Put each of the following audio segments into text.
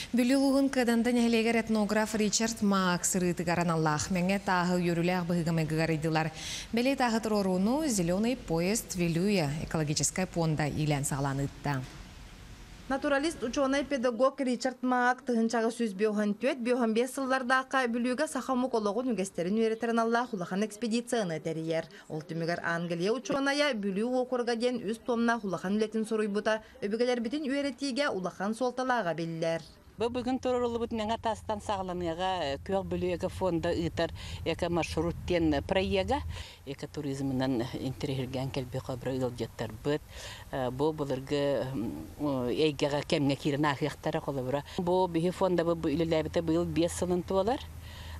Бүлүү улууһун Кыаданда нэһилиэгэр этнограф Ричард Маак сырыытыгар аналлаах мэҥэ тааһы үөрүүлээх быһыыга-майгыга арыйдылар. Бэлиэ тааһы туруорууну «Зеленый поезд Вилюя» экологическай пуонда иилээн-саҕалаан ыытта. Натуралист, учуонай-педагог Ричард Маак тыһыынчаҕа 154-55 сыллардаахха Бүлүүгэ саха омук олоҕун үгэстэрин үөрэтэр аналлаах улахан экспедицияны тэрийэр. Ол түмүгэр Англия учуонайа Бүлүү уокуруга диэн үс туомнаах улахан үлэтин суруйбута өбүгэлэрбитин үөрэтиигэ улахан суолталааҕа биллэр. Бу бүгүн туруоруллубут Мэҥэ таастан саҕаланыаҕа Күөх Бүлүү экофонда ыытар эко-маршрут диэн проега экотуризмынан интэриэһиргээн кэлбит хобро ыалдьыттарбыт бу былыргы эйгэҕэ кэмҥэ киирэн ааһыахтара холобура бу биһи фондабыт бу үлэлээбитэ быйыл 5 сылын туолар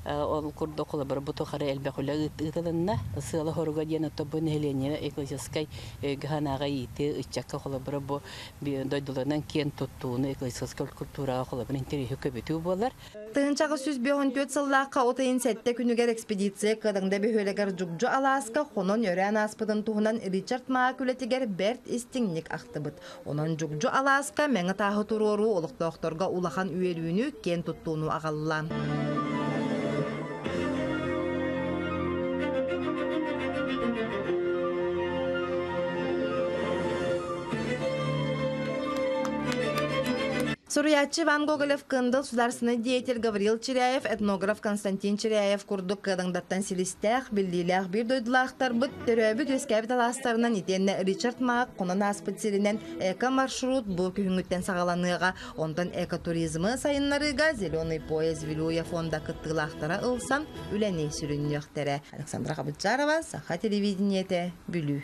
Ол курдук холобура бу тухары элбэх үлэ ыытылынна. Сыала-соруга диэн ото бу нэһилиэнньэ экологическай өйгө-санааҕа иитии ыччакка холобура бу дойдуларынан киэн туттууну экологическай культураҕа холобура интэриэһи көбүтүү буолар. Тыһыынчаҕа 154 сыллаахха от ыйын сэттэ күнүгэр экспедиция Кыадаҥда бөһүөлэгэр Дьугдьу алааска хонон өрөөн ааспытын туһунан Ричард Маак үлэтигэр бэрт истиҥник ахтыбыт. Онон Дьугдьу алааска мэҥэ тааһы туруоруу олохтоохторго улахан үөрүүнү, киэн туттууну аҕалла. Суруйааччы Иван Гоголев-Кындыл, сударственный деятель Гаврил Чиряев, этнограф Константин Чиряев курдук кыадаҥдаттан силистээх, биллиилээх биир дойдулаахтарбыт төрөөбүт-үөскээбит алаастарынан итиэннэ Ричард Маак хонон ааспыт сиринэн эко-маршрут бу күһүҥҥүттэн саҕаланыаҕа. Онтон экотуризмы сайыннарыыга «Зеленый пояс Вилюя» фонда кыттыылаахтара ылсан үлэни сүрүннүөхтэрэ. Александра Хабытжарова, Саха телевидениетэ, Бүлүү.